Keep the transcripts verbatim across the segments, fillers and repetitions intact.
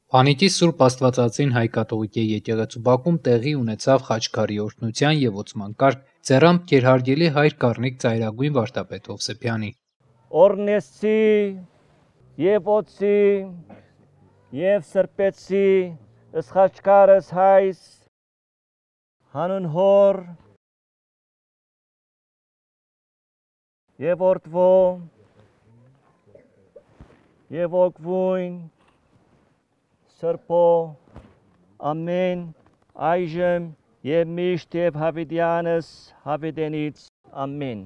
Փանիկի Սուրբ Աստվածածին հայ-կաթողիկե եկեղեցու բակում տեղի ունեցավ խաչքարի օրհնության և ոցման կարգ ձեռամբ գերհարգելի հայր Կառնիկ ծայրագույն վարդապետ Հովսեփյանի։ Օրհնեցի և ոցի և սրբեցի ըսխաչքարս հայս հանուն հոր և որդվո և ոգվույն սրբո ամեն այժմ և միշտ և հավիտյանս հավիտենից ամեն։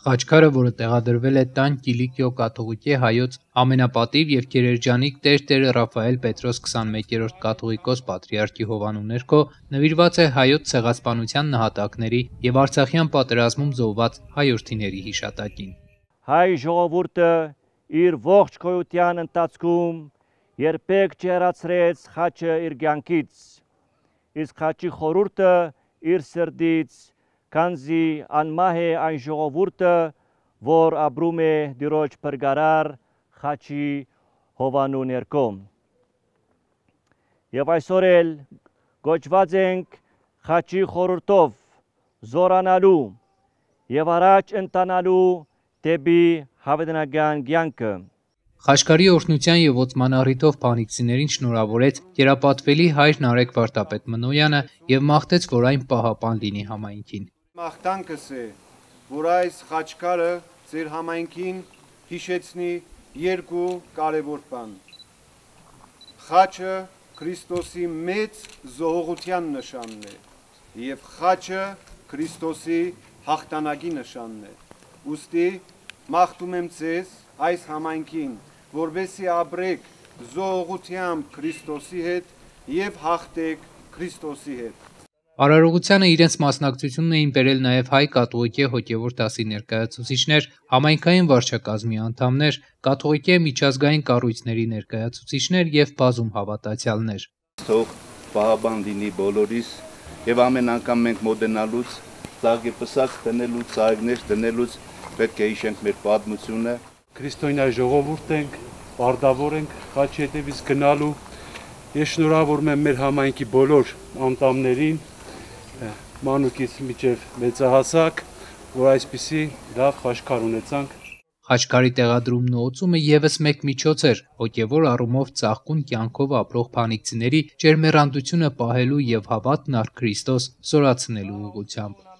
Խաչքարը, որը տեղադրվել է տան Կիլիկիո կաթողիկե հայոց ամենապատիվ և գերերջանիկ տեր Տեր Ռաֆայել Պետրոս քսանմեկերորդ կաթողիկոս պատրիարքի հովանու ներքո, նվիրված է Հայոց ցեղասպանության նահատակների և Արցախյան պատերազմում զոհված հայրենիների հիշատակին։ Հայ ժողովուրդը իր ողջ գոյության ընթացքում երբեք չհեռացրեց խաչը իր կյանքից, իսկ խաչի խորհուրդը իր սրտից, քանզի անմահ է այն ժողովուրդը, որ ապրում է Տիրոջ փրկարար խաչի հովանու ներքո։ Եվ այսօր էլ կոչված ենք խաչի խորհրդով զորանալու և առաջ ընթանալու դեպի հավիտենական կյանքը։ Խաչքարի օրհնության և ոցման առիթով փանիկցիներին շնորհավորեց կերապատվելի հայր Նարեկ վարդապետ Մնոյանը և մաղթեց, որ այն պահապան լինի համայնքին։ Մաղթանքս է, որ այս խաչքարը ձեր համայնքին հիշեցնի երկու կարևոր բան։ Խաչը Քրիստոսի մեծ զոհողության նշանն է և խաչը Քրիստոսի հաղթանակի նշանն է։ Ուստի մաղթում եմ ձեզ այս համայնքին, որպեսզի ապրեք զոհողությամբ Քրիստոսի հետ և հաղթեք Քրիստոսի հետ։ Արարողությանը իրենց մասնակցությունն էին բերել նաև հայ կաթողիկե հոգևոր դասի ներկայացուցիչներ, համայնքային վարչակազմի անդամներ, կաթողիկե միջազգային կառույցների ներկայացուցիչներ և բազում հավատացյալներ։ Թող պահապան լինի բոլորիս և ամեն անգամ մենք մոտենալուց, ծաղկեպսակ դնելուց, ծաղիկներ դնելուց պետք է հիշենք մեր պատմությունը։ Քրիստոնյա ժողովուրդ ենք, պարտավոր ենք խաչի հետևից գնալու։ Ես շնորհավորում եմ մեր համայնքի բոլոր անդամներին, մանուկից մինչև մեծահասակ, որ այսպիսի լավ խաչքար ունեցանք։ Խաչքարի տեղադրումն ու օծումը ևս մեկ միջոց էր հոգևոր առումով ծաղկուն կյանքով ապրող փանիկցիների ջերմեռանդությունը պահելու և հավատն առ Քրիստոս զորացնելու ուղղությամբ։